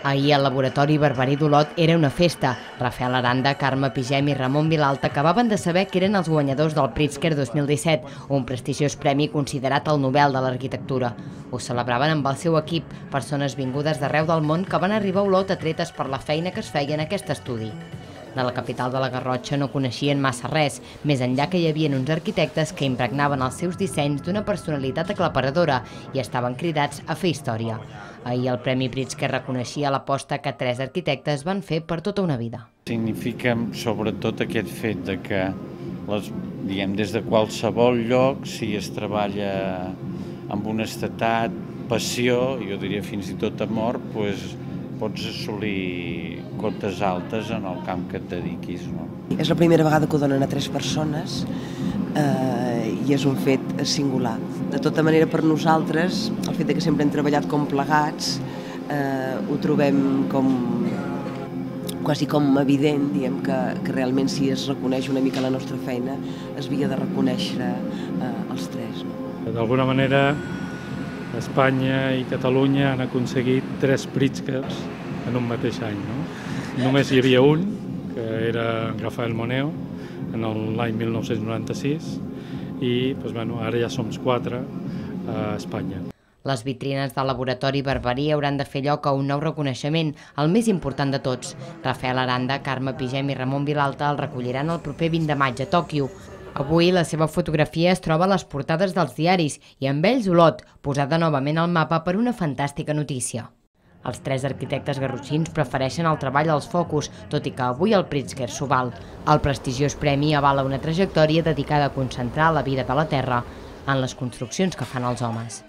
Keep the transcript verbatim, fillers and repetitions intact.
Ahir el laboratori Barberí d'Olot era una festa. Rafael Aranda, Carme Pigem i Ramon Vilalta acabaven de saber que eren els guanyadors del Pritzker dos mil disset, un prestigiós premi considerat el Nobel de l'Arquitectura. Ho celebraven amb el seu equip, persones vingudes d'arreu del món que van arribar a Olot atretes per la feina que es feia en aquest estudi. De la capital de la Garrotxa no coneixien massa res, més enllà que hi havia uns arquitectes que impregnaven els seus dissenys d'una personalitat aclaparadora i estaven cridats a fer història. Ahir el Premi Pritzker reconeixia l'aposta que tres arquitectes van fer per tota una vida. Significa sobretot aquest fet de que les, diguem, des de qualsevol lloc, si es treballa amb honestedat, passió, jo diria fins i tot amor, doncs pots assolir cotes altes en el camp que et dediquis, no? És la primera vegada que ho donen a tres persones eh, i és un fet singular. De tota manera, per nosaltres, el fet de que sempre hem treballat com plegats, eh, ho trobem com quasi com evident, diguem, que, que realment si es reconeix una mica la nostra feina, es havia de reconèixer eh, els tres. No? D'alguna manera, Espanya i Catalunya han aconseguit tres Pritzkers en un mateix any. No? Només hi havia un, que era Rafael Moneo, en l'any mil nou-cents noranta-sis, i doncs, bueno, ara ja som quatre a Espanya. Les vitrines del laboratori Barberí hauran de fer lloc a un nou reconeixement, el més important de tots. Rafael Aranda, Carme Pigem i Ramon Vilalta el recolliran el proper vint de maig a Tòquio. Avui la seva fotografia es troba a les portades dels diaris i amb ells Olot, posada novament al mapa per una fantàstica notícia. Els tres arquitectes garrotxins prefereixen el treball als focus, tot i que avui el Pritzker s'ho val. El prestigiós premi avala una trajectòria dedicada a concentrar la vida de la Terra en les construccions que fan els homes.